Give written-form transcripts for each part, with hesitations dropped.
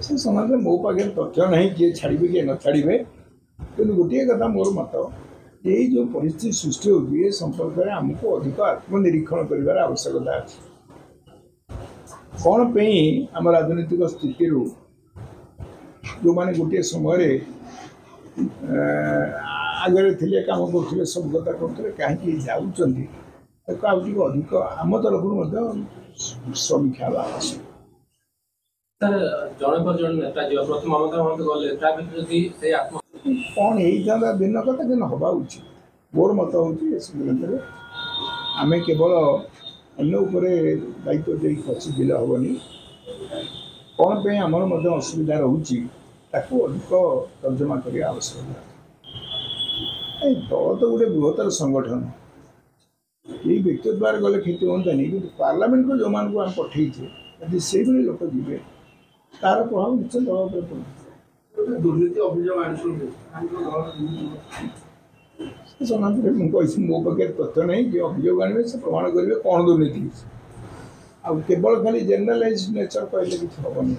ସେ ସମାଜରେ ମୋ ପାଖରେ ତଥ୍ୟ ନାହିଁ କିଏ ଛାଡ଼ିବେ କିଏ ନ ଛାଡ଼ିବେ, କିନ୍ତୁ ଗୋଟିଏ କଥା ମୋର ମତ, ଏଇ ଯେଉଁ ପରିସ୍ଥିତି ସୃଷ୍ଟି ହେଉଛି ଏ ସମ୍ପର୍କରେ ଆମକୁ ଅଧିକ ଆତ୍ମନିରୀକ୍ଷଣ କରିବାର ଆବଶ୍ୟକତା ଅଛି। କ'ଣ ପାଇଁ ଆମ ରାଜନୈତିକ ସ୍ଥିତିରୁ ଯେଉଁମାନେ ଗୋଟିଏ ସମୟରେ ଆଗରେ ଥିଲେ, କାମ କରୁଥିଲେ, ସବୁ କଥା କରୁଥିଲେ, କାହିଁକି ଯାଉଛନ୍ତି, ତାକୁ ଆଉ ଟିକେ ଅଧିକ ଆମ ତରଫରୁ ମଧ୍ୟ ସମୀକ୍ଷା ହେବା ଆବଶ୍ୟକ। ସାର୍, ଜଣେ ପରେ ଜଣେ ନେତା ଯିବା, ପ୍ରଥମେ ମମତା ମହାନ୍ତି ଗଲେ, ତା ଭିତରେ ଯଦି ସେଇ ଆତ୍ମ କ'ଣ ହେଇଥାନ୍ତା ଭିନ୍ନ କଥା, କିନ୍ତୁ ହେବା ଉଚିତ। ମୋର ମତ ହେଉଛି ଏ ସଂକ୍ରାନ୍ତରେ ଆମେ କେବଳ ଅନ୍ୟ ଉପରେ ଦାୟିତ୍ୱ ଦେଇ ଖସିଯିଲେ ହେବନି। କ'ଣ ପାଇଁ ଆମର ମଧ୍ୟ ଅସୁବିଧା ରହୁଛି ତାକୁ ଅଧିକ ତର୍ଜମା କରିବା ଆବଶ୍ୟକତା। ଏ ଦଳ ତ ଗୋଟେ ବୃହତ୍ତର ସଂଗଠନ, ଏଇ ବ୍ୟକ୍ତି ଦ୍ୱାରା ଗଲେ କ୍ଷତି ହୁଅନ୍ତାନି, କିନ୍ତୁ ପାର୍ଲାମେଣ୍ଟକୁ ଯେଉଁମାନଙ୍କୁ ଆମେ ପଠେଇଛେ ଯଦି ସେଇଭଳି ଲୋକ ଯିବେ ତାର ପ୍ରଭାବ ନିଶ୍ଚୟ ଦଳ ଉପରେ ପଡ଼ିବ। ଦୁର୍ନୀତି ଅଭିଯୋଗ ଆଣିଛନ୍ତି ସେ ସମାଜରେ, ମୁଁ କହିଛି ମୋ ପାଖରେ ତଥ୍ୟ ନାହିଁ। ଯିଏ ଅଭିଯୋଗ ଆଣିବେ ସେ ପ୍ରମାଣ କରିବେ କ'ଣ ଦୁର୍ନୀତି ହେଇଛି। ଆଉ କେବଳ ଖାଲି ଜେନେରାଲାଇଜ୍ ନେଚର କହିଲେ କିଛି ହେବନି।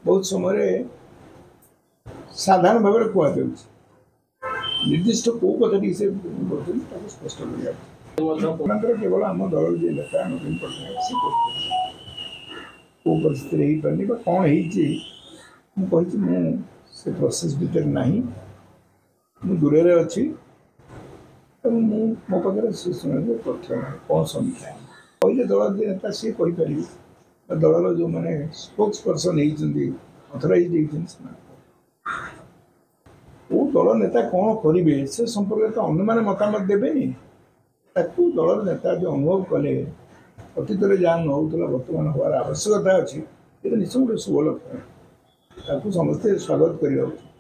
ବହୁତ ସମୟରେ ସାଧାରଣ ଭାବରେ କୁହାଯାଉଛି, ନିର୍ଦ୍ଦିଷ୍ଟ କେଉଁ କଥାଟି ସେ କରୁଛନ୍ତି ତାକୁ ସ୍ପଷ୍ଟ କରିବାକୁ। ତାଙ୍କର କେବଳ ଆମ ଦଳର ଯିଏ ନେତା ନବୀନ ପଟ୍ଟନାୟକ ସେ କରୁଛନ୍ତି, କେଉଁ ପରିସ୍ଥିତିରେ ହେଇପାରୁନି ବା କ'ଣ ହେଇଛି। ମୁଁ କହିଛି ମୁଁ ସେ ପ୍ରୋସେସ୍ ଭିତରେ ନାହିଁ, ମୁଁ ଦୂରରେ ଅଛି ଏବଂ ମୁଁ ମୋ ପାଖରେ ସେ ସମୟରେ ତଥ୍ୟ ନାହିଁ। କ'ଣ ସମୀକ୍ଷା କହିଲେ ଦଳର ଯିଏ ନେତା ସିଏ କହିପାରିବେ, ବା ଦଳର ଯେଉଁମାନେ ସ୍ପୋକ୍ସ ପର୍ସନ୍ ହେଇଛନ୍ତି, ଅଥରାଇଜ୍ ହେଇଛନ୍ତି, ସେମାନେ। କେଉଁ ଦଳ ନେତା କ'ଣ କରିବେ ସେ ସମ୍ପର୍କରେ ତ ଅନ୍ୟମାନେ ମତାମତ ଦେବେନି। ତାକୁ ଦଳର ନେତା ଯେଉଁ ଅନୁଭବ କଲେ ଅତୀତରେ ଯାହା ନ ହେଉଥିଲା ବର୍ତ୍ତମାନ ହେବାର ଆବଶ୍ୟକତା ଅଛି, ଏଇଟା ନିଶ୍ଚୟ ଗୋଟେ ଶୁଭ ଲକ୍ଷଣ, ତାକୁ ସମସ୍ତେ ସ୍ୱାଗତ କରିବା ଉଚିତ।